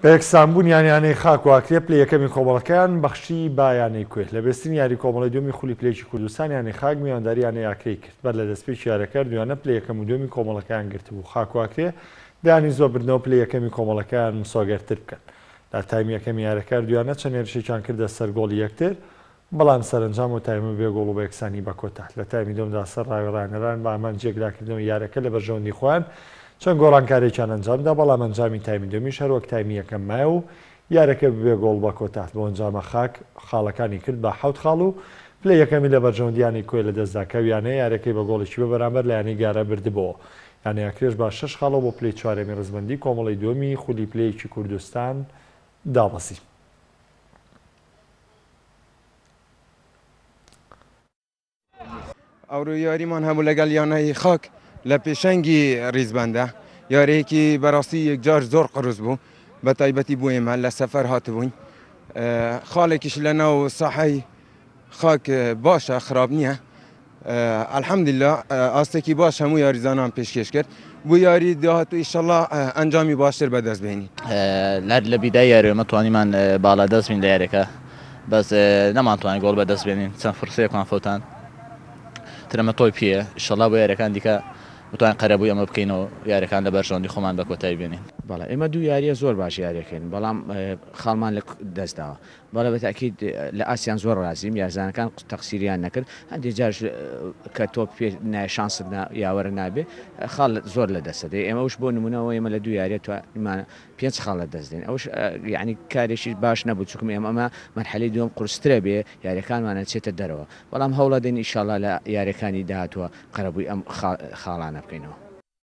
بە یەکسانبوونیان یانەی خاک و ئاکرێ پلەی یەکەمی کۆمەڵەکەیان بەخشی بە یانەی کوێ. لە بێسترین یاری کۆمەڵەی دووەمی خولی پلەیەکی کوردستان یانەی خاک میوانداری یانەی ئاکرێی کرد. بەر لە دەستپێکی یارەکە هەردوویانە پلەی یەکەم و دووەمی کۆمەڵەکەیان گرتبوو. خاک و ئاکرێ دەیانویست بە بردنەوە پلەی یەکەمی کۆمەڵەکەیان مسۆگەرتر بکەن. لە تایمی یەکەمی یارەکە هەردوویانە چەند هێرشێکیان کردە سەر گۆڵی یەکتر، بەڵام سەرەنجام ئەو تایمە بێ گۆڵ و بە یەکسانی بە کۆتا لە تایمی دووەمدا سەر ڕاوی ڕاهێنەران بە ئامانجی یەکلاکردنەوەی یارەکە لە بەرژەوەندی خۆیان چەند گۆڕانکارییەکیان ئەنجامدا، بەڵام ئەنجامی تایمی دووەمیش هەروەک تایمی یەکەم مایەوە و یارەکە بەبێ گۆڵ بە کۆتا بەو ئەنجامە خاک خاڵەکانی کرد بە حەوت خاڵ و پلەی یەکەمی لە بەرژەوەندی یانەی کۆیە لەدەستدا کە ئەو یانەیە یارەکەی بە گۆڵێکی بێ بەرامبەر لە یانەی گارە بردبۆوە. یانەی ئاکرێش بە شەش خاڵەوە بۆ پلەی چوارەمی ڕیزبەندی کۆمەڵەی دووەمی خولی پلەیەکی کوردستان دابەزی. ئەورۆ یاریمان هەبوو لەگەڵ یانەی خاک لە پێشەنگی ریزبەندە یاریەکی بەڕاستی یەکجار زۆر قرس بوو بە تایبەتی بۆ ئێمە لە سەفەر هاتبووین خاڵێکیش لە ناو ساحەی خاک باشە خراپ نییە الحمدللە ئاستێکی باش هەموو یاریزانان پێشکێش کرد بۆ یاری داهاتوو ئیشەڵا ئەنجامی باشتر بەدەست بێنین. هەر لە بیدای یاری ئێمە توانیمان باڵا دەست بین لە یاریەکە بەس نەمانتوانی گۆڵ بەدەست بێنین چەند فرسەیەکمان فەوتان تر ئەمە تۆی پێیە ئیشەڵا بۆ یاریەکان دیکە بتوانین قەرەبووی ئەمە بکەینەوە یاریەکان لە بەرژەوەندی خۆمان بە کۆتایی بێنین. بەڵێ ئێمە دوو یاریە زۆر باش یاریەکەین بەڵام خاڵمان لە دەست داوە بەڵێ بە تەئکید لە ئاستیان زۆر ڕازیم، یارزانەکان تەقسیریان نەکرد، هەندێ جاریش کە تۆپ پێ نایە شانست نا یاوەرە نابێ خاڵ زۆر لە دەست دەدەی، ئێمە ئەوش بۆ نمونە ئەوە ئێمە لە دوو یاریە توانیمان پێنج خاڵ لە دەست دەین ئەوش یانی کارێکی باش نەبوو چونکم ئێمە ئەمە مەرحەلەی دووەم قورسترە بێ یاریەکانمان ئەچێتە دەرەوە بەڵام هەوڵەدەین ئیشاڵا لە یاریەکانی داهاتووە قەرەبووی ئەم خاڵانە بکەینەوە.